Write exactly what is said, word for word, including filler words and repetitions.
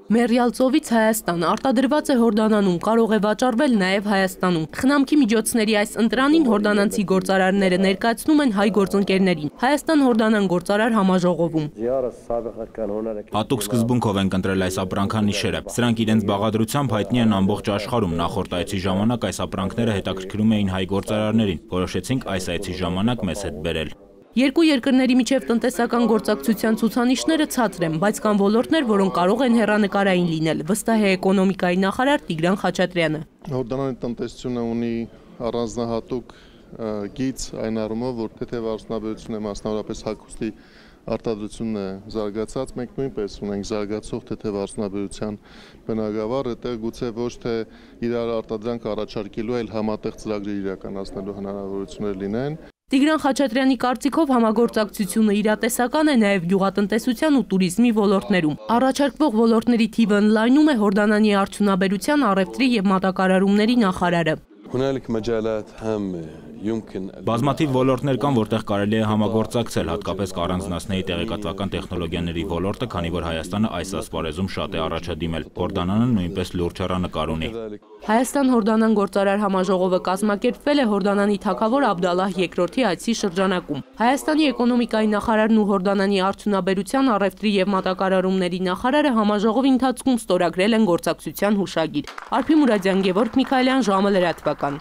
Մեռյալ ծովից Հայաստան արտադրված է Հորդանանում, կարող է վաճառվել նաև Հայաստանում։ Խնամքի միջոցների այս ընտրանին հորդանանցի գործարարները ներկայացնում են հայ գործընկերներին Հայաստան-Հորդանան գործարար համաժողովում։ Հատուկ սկզբունքով ենք ընտրել այս ապրանքանիշերը։ Սրանք իրենց բաղադրությամբ հայտնի են ամբողջ աշխարհում։ Նախորդ այցի ժամանակ այս ապրանքները հետաքրքրում էին հայ գործարարներին։ Որոշեցինք այս այցի ժամանակ մեզ հետ բերել։ Երկու երկրների միջև տնտեսական գործակցության ցուցանիշները ցածր են, բայց կան ոլորտներ, որոնք կարող են հեռանկարային լինել, վստահ է էկոնոմիկայի նախարար Տիգրան Խաչատրյանը։ Հորդանանի տնտեսությունը ունի առանձնահատուկ գիծ այն առումով, որ թեթև արդյունաբերությունը մասնավորապես հագուստի արտադրությունն է զարգացած, մենք նույնպես ունենք զարգացող թեթև արդյունաբերության բնագավառ, այդտեղ գուցե ոչ թե իրար արտադրանք առաջարկելու, այլ համատեղ ծրագրեր իրականացնելու հնարավորություններ լինեն։ Տիգրան Խաչատրյանի կարծիքով համագործակցությունը իրատեսական է նաև գյուղատնտեսության ու туриզմի ոլորտներում։ Առաջարկվող ոլորտների թիվը ընդլայնում է Հորդանանի արդյունաբերության, առևտրի եւ մատակարարումների նախարարը։ Բազմաթիվ ոլորտներ կան, որտեղ կարելի է համագործակցել, հատկապես կառանձնացնեի տեղեկատվական տեխնոլոգիաների ոլորտը, քանի որ Հայաստանը այս ասպարեզում շատ է առաջադիմել։ Հորդանանը նույնպես լուրջ հեռանկար ունի։ Հայաստան-Հորդանան գործարար համաժողովը կազմակերպվել է Հորդանանի թագավոր Աբդալլահ երկրորդի այցի շրջանակում։ Հայաստանի էկոնոմիկայի նախարարն ու Հորդանանի արդյունաբերության, առևտրի եւ մատակարարումների նախարարը համաժողովի ընթացքում ստորագրել են գործակցության հուշագիր։ Արփի Մուրադյան, Գևորգ Միքայելյան, ժամը լրատվական։